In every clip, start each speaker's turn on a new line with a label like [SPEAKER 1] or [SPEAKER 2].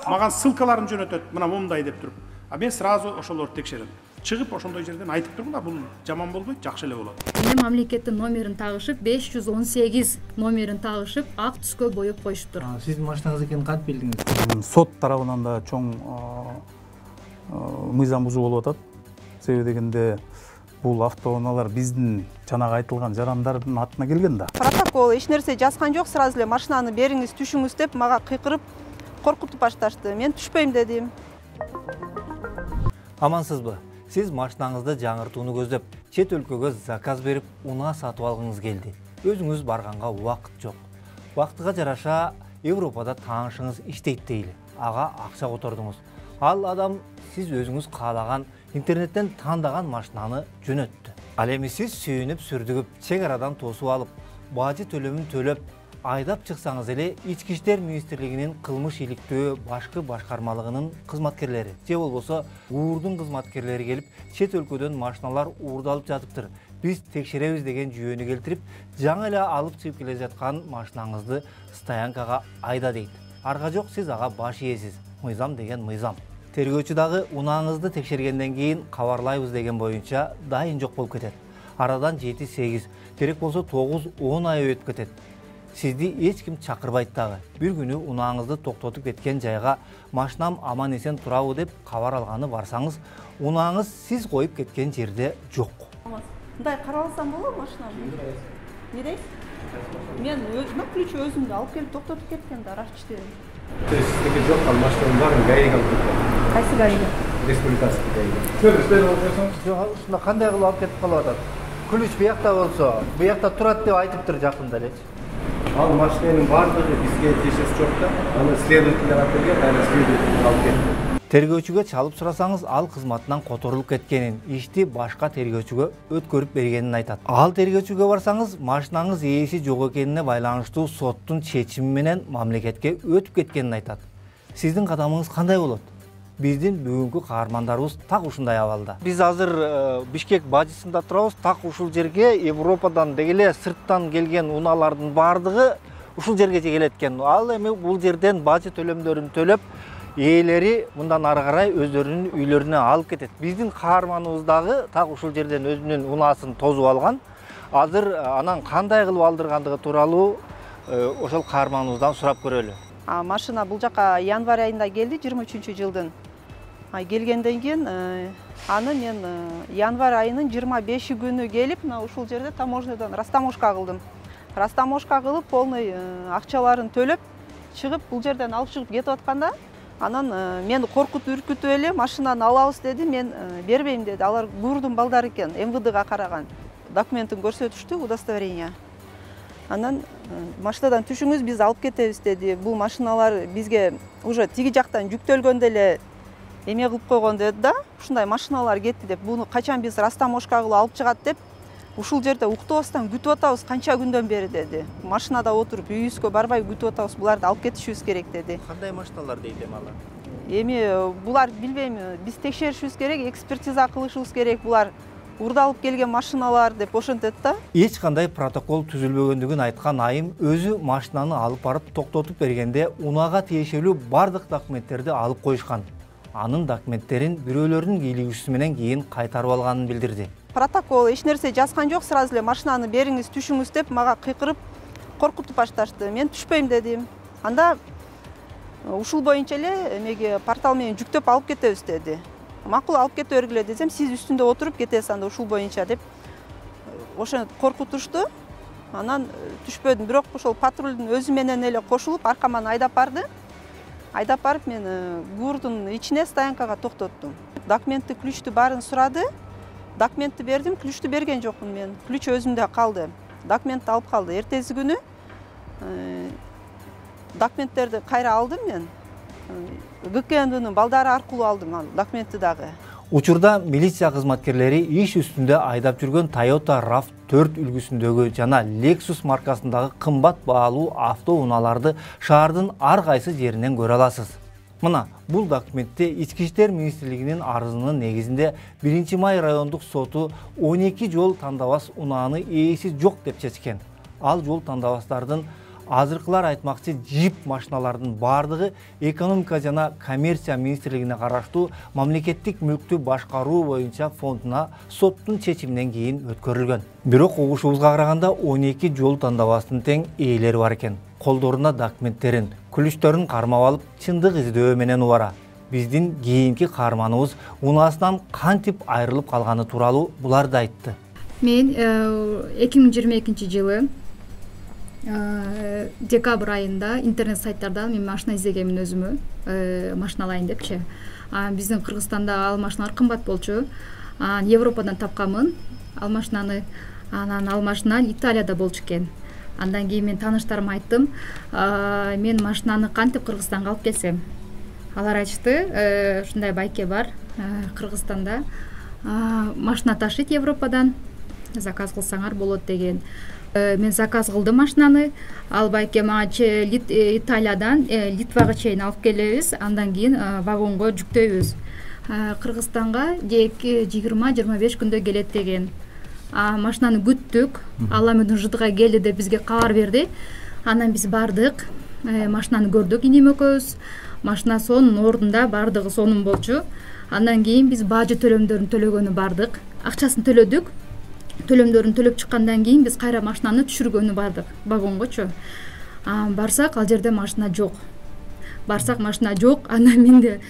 [SPEAKER 1] Маған ссылкаларын жөнөтөт, мына момундай деп туруп. А мен сразу ошолорду текшерем. Чыгып ошондой жерден айтып турмун да, бул жаман болбойт, жакшы эле болот.
[SPEAKER 2] Эми мамлекеттин номерин тагышып, 518 номерин тагышып, ак түскө боеп коюшуптур.
[SPEAKER 3] Сиздин машинаңыз экенин кантип билдиңиз?
[SPEAKER 4] Сот тарабынан да чоң мыйзам бузуу болуп атат. Себеби дегенде бул автоунаалар биздин жанагы айтылган жарандардын атына келген да.
[SPEAKER 5] Протокол эч нерсе жазган жок, сразу эле машинаны бериңиз, түшүңүз деп мага кыйкырып, коркутуп башташты. Мен түшпөйм дедим.
[SPEAKER 3] Амансызбы? Сиз машинаңызды жаңыртууну көздөп, чет өлкөгө заказ берип, унаа сатып алгыңыз келди. Өзүңүз барганга убакыт жок. Убактыга жараша Европада таанышыңыз иштейт дейли. Ага акча котордуңуз. Ал адам сиз өзүңүз каалаган интернеттен тандаган машинаны жөнөттү. Ал эми сиз сүйүнүп, сүрдүгүп, чек арадан тосуп алып, бажы төлөмүн төлөп, айдап чыксаңыз эле Ички иштер министрлигинин кылмыш иликтөө башкы башкармалыгынын кызматкерлери же болбосо УУРдун кызматкерлери келип, чет өлкөдөн машиналар уурдалып жатыптыр. Биз текшеребиз деген жүйөнү келтирип, жаңы эле алып чыгып келе жаткан машинаңызды стоянкага айда дейт. Арга жок, сиз ага баш ээсиз. Мыйзам деген мыйзам. Тергөөчү дагы унааңызды текшергенден кийин кабарлайбыз деген боюнча дайын жок болуп кетет. Арадан 7-8, керек болсо 9-10 ай өтүп кетет. Сизди эч ким чакырбайт дагы. Бир күнү унааңызды токтотуп кеткен жайга машинам аман эсен турабы деп кабар алганы барсаңыз, унааңыз сиз коюп кеткен жерде жок.
[SPEAKER 5] Мындай карап алсам болобу машинамды? Не дейсиз? Мен ключ өзүмдү алып келип токтотуп кеткен да, рашчты.
[SPEAKER 6] То есть сиздики жок, ал машинаның баарын ГАИга алып кеткен?
[SPEAKER 5] Кайсы ГАИга?
[SPEAKER 6] Республикасының ГАИга.
[SPEAKER 3] Жок, ушунда кандай кылып алып кетип калып атат? Ключ буякта болсо, буякта турат деп айтыптыр жакында элечи.
[SPEAKER 6] Ал машинаның баардыгы бизге тиешеси жок да. Аны следовательдер алып келген, аны следователь алып кетти.
[SPEAKER 3] Тергөөчүгө чалып сурасаңыз, ал кызматынан которулуп кеткенин, ишти башка тергөөчүгө өткөрүп бергенин айтат. Ал тергөөчүгө барсаңыз, машинаңыз ээси жок экенине байланыштуу соттун чечими менен мамлекетке өтүп кеткенин айтат. Сиздин кадамыңыз кандай болот? Биздин бүгүнкү каармандарыбыз так ушундай абалда. Биз азыр Бишкек бажысында турабыз. Так ушул жерге Европадан дегеле сырттан келген унаалардын баардыгы ушул жерге келет экен. Ал эми бул жерден бажы төлөмдөрүн төлөп, ээлери мындан ары карай өздөрүнүн үйлөрүнө алып кетет. Биздин каарманыбыз дагы так ушул жерден өзүнүн унаасын тозуп алган. Азыр анан кандай кылып алдыргандыгы тууралуу ошол каарманыбыздан сурап көрөлү.
[SPEAKER 5] Машина бул жака январь айында келди, 23-жылдын. Келгенден кийин аны мен январь айынын 25 күнү келип, ушул жерде таможнядан растаможка кылдым. Растаможка кылып, полный акчаларын төлөп, чыгып бул жерден алып чыгып кетип атканда, анан мени коркутуп үркүтүп эле машинаны алабыз деди, мен бербейм деди. Алар ГУРдун балдары экен, МВДга караган. Документин көрсөтүштү, удостоверение. Анан машинадан түшүңүз, биз алып кетебиз деди. Бул машиналар бизге уже тиги жактан жүктөлгөндө эле эме кылып койгон деди да. Ушундай машиналар кетти деп, буну качан биз растаможка кылып алып чыгат деп, ушул жерде уктабастан күтүп атабыз, канча күндөн бери деди. Машинада отуруп, үйүбүзгө барбай күтүп атабыз, буларды алып кетишибиз керек деди.
[SPEAKER 3] Кандай машиналар дейт эми алар?
[SPEAKER 5] Эми булар билбейм, биз текшеришибиз керек, экспертиза кылышыбыз керек, булар урдалып келген машиналар деп ошентет да.
[SPEAKER 3] Эч кандай протокол түзүлбөгөндүгүн айткан айым өзү машинаны алып барып токтотуп бергенде унаага тиешелүү бардык документтерди алып коюшкан. Анын документтерин бирөөлөрдүн кийлигүүсү менен кийин кайтарып алганын билдирди.
[SPEAKER 5] Протокол эч нерсе жазган жок, сразу эле машинаны бериңиз, түшүңүз деп мага кыйкырып, коркутуп башташты. Мен түшпөйм дедим. Анда ушул боюнча эле эмеге портал менен жүктөп алып кетебиз деди. Макул, алып кете бергиле десем, сиз үстүндө отуруп кетесиз анда ушул боюнча деп ошентип коркутушту. Анан түшпөдүм, бирок ошол патрулдун өзү менен эле кошулуп аркаман айдап барды. Айдап барып мен ГУРдун ичине стоянкага токтоттум. Документти, ключту баарын сурады. Документти бердим, ключту берген жокмун мен. Ключ өзүмдө калды. Документти алып калды. Эртеси күнү документтерди кайра алдым мен. ГКНДнын балдары аркылуу алдым ал документти дагы.
[SPEAKER 3] Учурда милиция кызматкерлери иш үстүндө айдап жүргөн Toyota RAV4 үлгүсүндөгү жана Lexus маркасындагы кымбат баалуу автоунааларды шаардын ар кайсы жеринен көрө аласыз. Мына, бул документте Ички иштер министрлигинин арызынын негизинде 1-май райондук соту 12 жол тандабас унааны ээси жок деп чечкен. Ал жол тандабастардын Азыркылар айтмакчы джип машиналардын баардыгы экономика жана коммерция министрлигине караштуу мамлекеттик мүлктү башкаруу боюнча фондуна соттун чечиминен кийин өткөрүлгөн. Бирок угушубузга караганда 12 жол тандабастын тең ээлери бар экен. Колдоруна документтерин, күлүштөрүн кармап алып, чындык издөө менен убара. Биздин кийинки каарманыбыз унаасынан кантип айрылып калганы тууралуу буларды айтты.
[SPEAKER 2] Мен 2022 жылы декабрь айында интернет сайттардан мен машина издегенмин өзүмө, машина алайын депчи. Биздин Кыргызстанда ал машиналар кымбат болчу. Европадан тапканмын ал машинаны. Анан ал машина Италияда болчу экен. Андан кийин мен тааныштарыма айттым, мен машинаны кантип Кыргызстанга алып келсем. Алар айтышты, ушундай байке бар Кыргызстанда, машина ташыйт Европадан, заказ кылсаңар болот деген. Мен заказ кылдым машинаны, ал байке мага Италиядан Литвага чейин алып келебиз, андан кийин вагонго жүктөйбүз. Кыргызстанга 20-25 күндө келет деген. Машинаны күттүк, Алла менен жыдыга келди деп бизге кабар берди. Анан биз бардык, машинаны көрдүк инем экөөбүз. Машина сонун ордунда, бардыгы сонун болчу. Андан кийин биз бажы төлөмдөрүн төлөгөнү бардык. Акчасын төлөдүк. Төлөмдөрүн төлөп чыккандан кийин биз кайра машинаны түшүргөнү бардык вагонгочу. Барсак ал жерде машина жок. Анан менде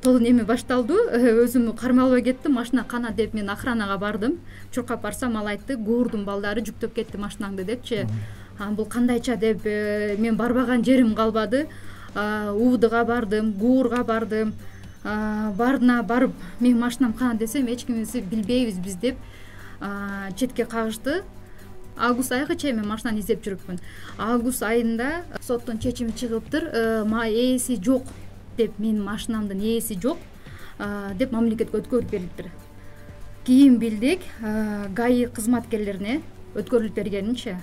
[SPEAKER 2] толун эме башталды. Өзүмдү кармай албай кеттим. Машина кана деп мен охранага бардым. Чуркап барсам ал айтты, гуурдун балдары жүктөп кетти машинаңды депчи. Бул кандайча деп мен барбаган жерим калбады. УВДга бардым, гуурга бардым. Бардына барып, мен машинам кана десем, эч кимиси билбейбиз биз деп четке кагышты. Август айга чейин мен машинаны издеп жүрүпмүн. Август айында соттун чечими чыгыптыр. Ээси жок деп, менин машинамдын ээси жок деп мамлекетке өткөрүп берилиптир. Кийин билдик, ГАИ кызматкерлерине өткөрүлүп бергенинчи.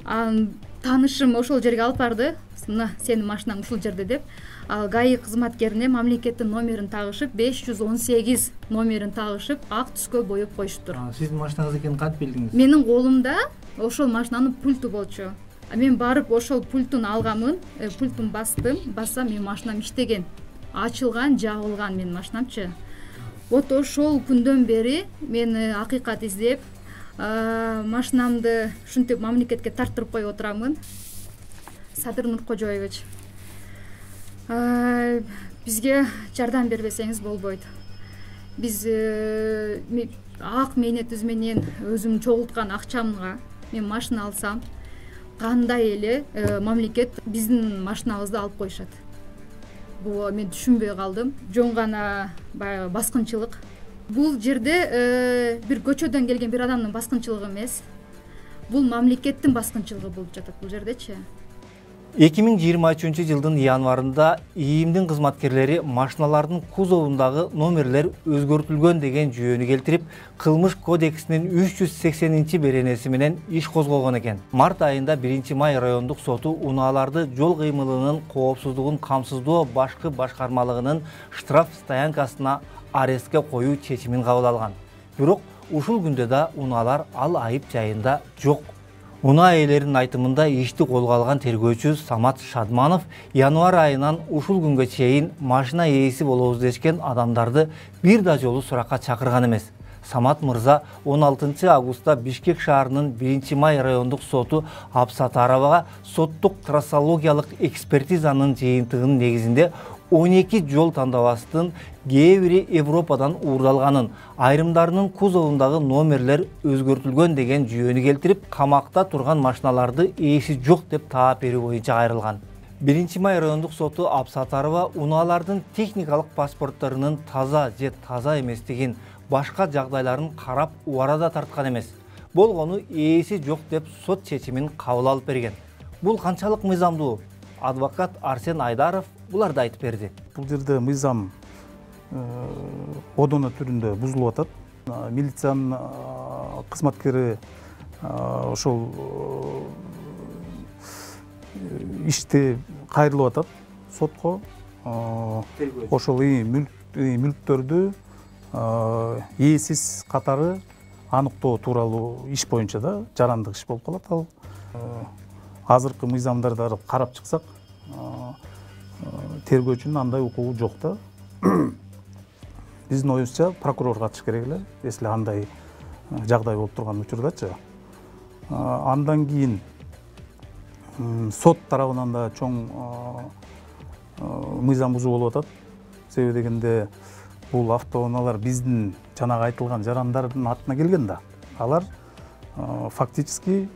[SPEAKER 2] Таанышым ошол жерге алып барды. Мына сенин машинаң ушул жерде деп. Ал ГАИ кызматкерине мамлекеттин номерин тагышып, 518 номерин тагышып, ак түскө боеп коюшуптур.
[SPEAKER 3] Сиздин машинаңыз экенин кантип билдиңиз?
[SPEAKER 2] Менин колумда ошол машинанын пульту болчу. Мен барып ошол пультун алганмын, пультун бассам менин машинам иштеген. Ачылган, жабылган менин машинамчы. Вот ошол күндөн бери мен акыйкат издеп, машинамды ушинтип мамлекетке тарттырып коюп отурамын. Садыр Нуркожоевич, бизге жардам бербесеңиз болбойт. Биз ак мээнетибиз менен өзүм чогулткан акчамга мен машина алсам, кандай эле мамлекет биздин машинабызды алып коюшат. Бул мен түшүнбөй калдым. Жөн гана баягы баскынчылык. Бул жерде бир көчөдөн келген бир адамдын баскынчылыгы эмес. Бул мамлекеттин баскынчылыгы болуп жатат бул жердечи.
[SPEAKER 3] 2023 жылдын январында ИИМдин кызматкерлери машиналардын кузовундагы номерлер өзгөртүлгөн деген жүйөнү келтирип, кылмыш кодексинин 380 беренеси менен иш козгогон экен. Март айында 1-Май райондук соту унааларды жол кыймылынын коопсуздугун камсыздоо башкы башкармалыгынын штраф стоянкасына арестке коюу чечимин кабыл алган. Бирок ушул күндө да унаалар ал айып жайында жок. Унаа ээлеринин айтымында ишти колго алган тергөөчү Самат Шадманов январь айынан ушул күнгө чейин машина ээси болобуз дешкен адамдарды бир да жолу суракка чакырган эмес. Самат мырза 16 августта Бишкек шаарынын 1-Май райондук соту Абсатаровага соттук трассологиялык экспертизанын жыйынтыгынын негизинде 12 жол тандабастын кээ бири Европадан уурдалганын, айрымдарынын кузовундагы номерлер өзгөртүлгөн деген жүйөнү келтирип, камакта турган машиналарды ээси жок деп таап берүү боюнча кайрылган. 1-Май райондук соту Абсатарова унаалардын техникалык паспортторунун таза же таза эместигин, башка жагдайларын карап убарада тарткан эмес. Болгону ээси жок деп сот чечимин кабыл алып берген. Бул канчалык мыйзамдуу? Адвокат Арсен Айдаров буларды айтып берди.
[SPEAKER 4] Бул жерде мыйзам одоно түрүндө бузулуп атат. Милициянын кызматкери ошол ишти кайрылып атат сотко. Ошол мүлктөрдү ээсиз катары аныктоо тууралуу иш боюнча да жарандык иш болуп калат. Ал азыркы мыйзамдарды карап чыксак, тергөөчүнүн андай укугу жок да. Биздин оюбузча прокурор катыш керек эле, если андай жагдай болуп турган учурдачы. Андан кийин сот тарабынан да чоң мыйзам бузуу болуп атат. Себеби дегенде бул автоунаалар биздин жанагы айтылган жарандардын атына келген да. Алар фактически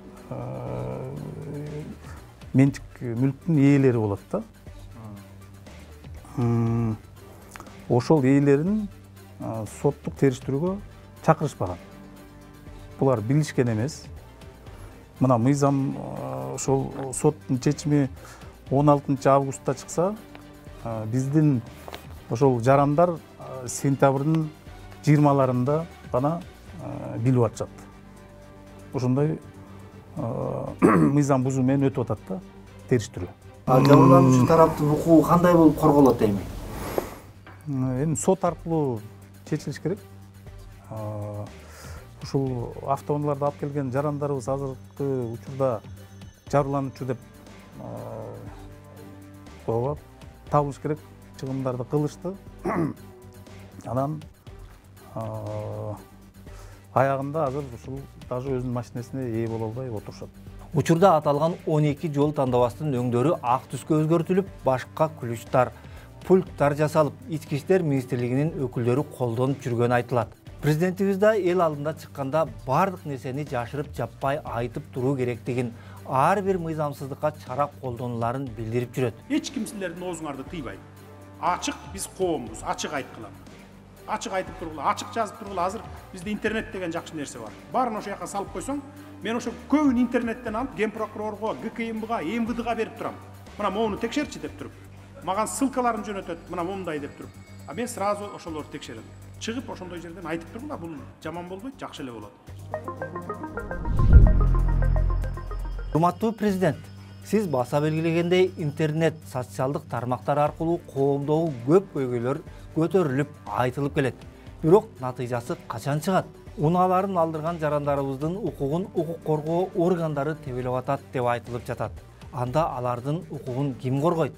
[SPEAKER 4] менчик мүлктүн ээлери болот да. Ошол ээлерин соттук териштирүүгө чакырышпаган. Булар билишкен эмес. Мына мыйзам ошол соттун чечими 16 августта чыкса, биздин ошол жарандар сентябрдын 20-ларында гана билип атышат. Ошондой мыйзам бузуу менен өтүп атат да, териштирүү.
[SPEAKER 3] Жабырлануучу тараптын укугу кандай болуп корголот эми?
[SPEAKER 4] Эми сот аркылуу чечилиш керек. Ушул автоунааларды алып келген жарандарыбыз азыркы учурда жабырлануучу деп табылыш керек, чыгымдарды кылышты. Анан аягында азыр ушул даже өзүнүн машинесине ээ боло албай отурушат.
[SPEAKER 3] Учурда аталган 12 жол тандабастын өңдөрү ак түскө өзгөртүлүп, башка ключтар, пульттар жасалып, Ички иштер министрлигинин өкүлдөрү колдонуп жүргөнү айтылат. Президентибиз да эл алдында чыкканда бардык нерсени жашырып жаппай айтып туруу керектигин, ар бир мыйзамсыздыкка чара колдонуларын билдирип жүрөт.
[SPEAKER 1] Эч ким силердин оозуңарды тыйбайт. Ачык биз коомбуз, ачык айткыла. Ачык айтып тургула, ачык жазып тургула. Азыр бизде интернет деген жакшы нерсе бар. Баарын ошол жака салып койсоң, мен ошо көбүн интернеттен алып ген прокурорго, ГКМБга, МВДга берип турам. Мына моуну текшерчи деп туруп. Мага ссылкаларын жөнөтөт, мына момундай деп туруп. А мен сразу ошолорду текшерем. Чыгып ошондой жерден айтып тургула, бул жаман болбойт, жакшы эле болот.
[SPEAKER 3] Урматтуу президент, сиз баса белгилегендей интернет, социалдык тармактар аркылуу коомдогу көп көйгөйлөр көтөрүлүп, айтылып келет. Бирок натыйжасы качан чыгат? Унааларын алдырган жарандарыбыздын укугун укук коргоо органдары тебелеп атат деп айтылып жатат. Анда алардын укугун ким коргойт?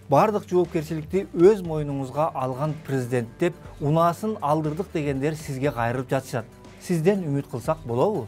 [SPEAKER 3] Бардык жоопкерчиликти өз мойнуңузга алган президент деп унаасын алдырдык дегендер сизге кайрылып жатышат. Сизден үмүт кылсак болобу?